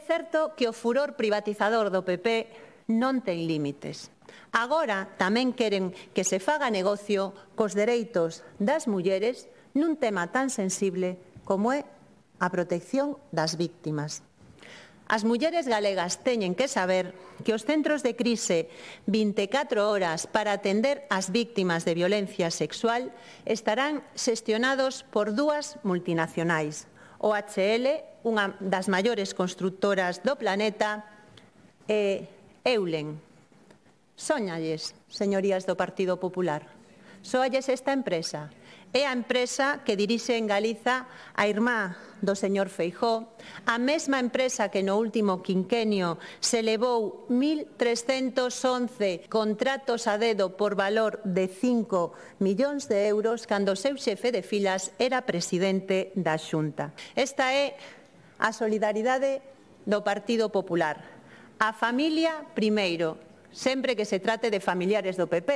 certo que o furor privatizador do PP non ten límites. Agora tamén queren que se faga negocio cos dereitos das mulleres nun tema tan sensible como é a protección das víctimas. As mulleres galegas teñen que saber que os centros de crise 24 horas para atender as víctimas de violencia sexual estarán xestionados por dúas multinacionais, OHL, unha das maiores constructoras do planeta, e Eulen. Sóñalles, señorías do Partido Popular. Sóalles esta empresa. É a empresa que dirixe en Galiza a irmá do señor Feijóo, a mesma empresa que no último quinquenio se levou 1.311 contratos a dedo por valor de 5 millóns de euros cando o seu xefe de filas era presidente da Xunta. Esta é a solidaridade do Partido Popular. A familia primeiro, sempre que se trate de familiares do PP.